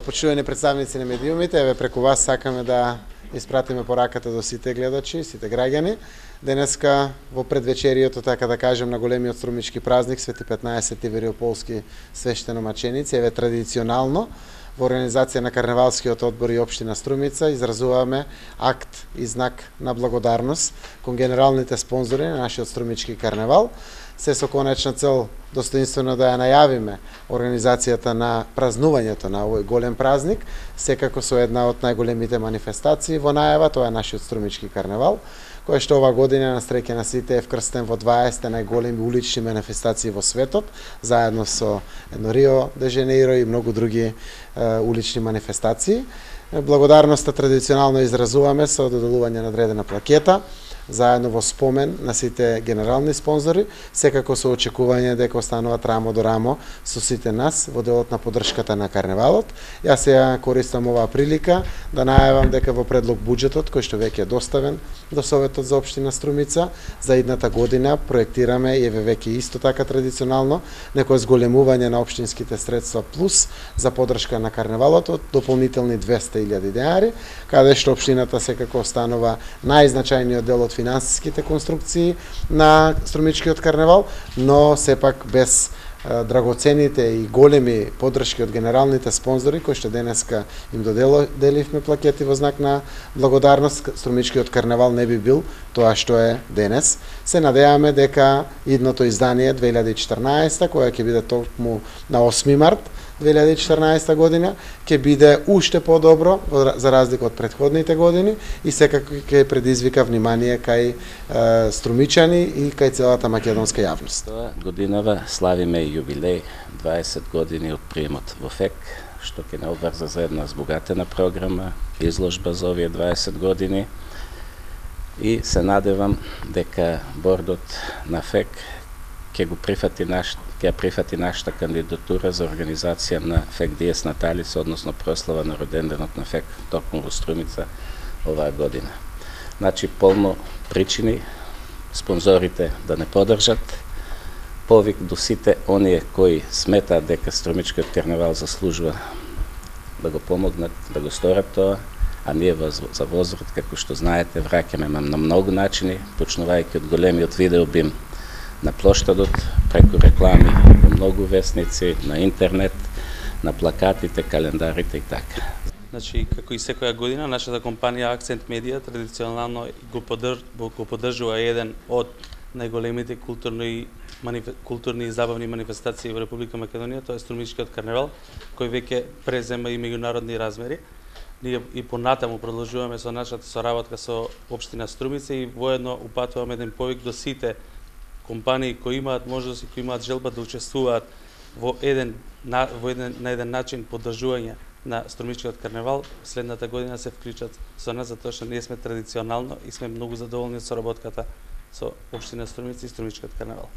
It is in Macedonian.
Почитувани представници на медиумите, еве преку вас сакаме да испратиме пораката до сите гледачи, сите граѓани. Денеска во предвечерието, така да кажем, на големиот струмички празник Свети 15 Ивериополски свештеномаченици, еве традиционално во организација на Карневалскиот одбор и општина Струмица изразуваме акт и знак на благодарност кон генералните спонзори на нашиот струмички карневал, се со конечна цел достоинствено да ја најавиме организацијата на празнувањето на овој голем празник, секако со една од најголемите манифестации во најава, тоа е нашиот струмички карневал, кој што ова година на среќа на сите е вкрстен во 20 најголеми улични манифестации во светот, заедно со Рио де Женеиро и многу други улични манифестации. Благодарноста традиционално изразуваме со доделување на одредена плакета, заедно во спомен на сите генерални спонзори, секако со очекување дека остануваат рамо до рамо со сите нас во делот на поддршката на карневалот. Јас ја користам оваа прилика да најавам дека во предлог буџетот, кој што веќе е доставен до Советот за општина Струмица, за идната година проектираме и еве веќе исто така традиционално некое зголемување на општинските средства плюс за поддршка на карневалот од дополнителни 200.000 денари, каде што општината секако останува најзначајниот дел од финансиските конструкции на струмичкиот карневал, но сепак без драгоцените и големи поддршки од генералните спонзори кои што денеска им доделивме плакети во знак на благодарност, струмичкиот карневал не би бил тоа што е денес. Се надеваме дека идното издание 2014, која ќе биде токму на 8 март 2014 година, ќе биде уште подобро за разлика од претходните години и секако ќе предизвика внимание кај струмичани и кај целата македонска јавност. Тоа годинава славиме јубилеј 20 години од приемот во ФЕК, што ќе не обврза за една збогатена програма, изложба за овие 20 години и се надевам дека бордот на ФЕК ќе прифати нашата кандидатура за организација на ФЕК Диес Наталис, односно прослава на роденденот на ФЕК токму во Струмица оваа година. Значи, полно причини спонзорите да не поддржат, повик до сите оние кои сметаат дека струмичкиот карневал заслужува да го помогнат, да го сторат тоа, а ние за возврат, како што знаете, враќаме на многу начини, почнувајќи од големиот видеобим на плоштадот, преку реклами во многу весници, на интернет, на плакатите, календарите и така. Значи, како и секоја година, нашата компанија Акцент Медија традиционално го поддржува еден од најголемите културни и забавни манифестации во Република Македонија, тоа е Струмичкиот карневал, кој веќе презема и меѓународни размери. Ние и понатаму продолжуваме со нашата соработка со општина Струмица и воедно упатуваме еден повик до сите компании кои имаат можност и кои имаат желба да учествуваат на еден начин поддржување на Струмичкиот карневал, следната година се вклучат со нас, затоа што ние сме традиционално и сме многу задоволни од соработката со општина Струмица и Струмичкиот карневал.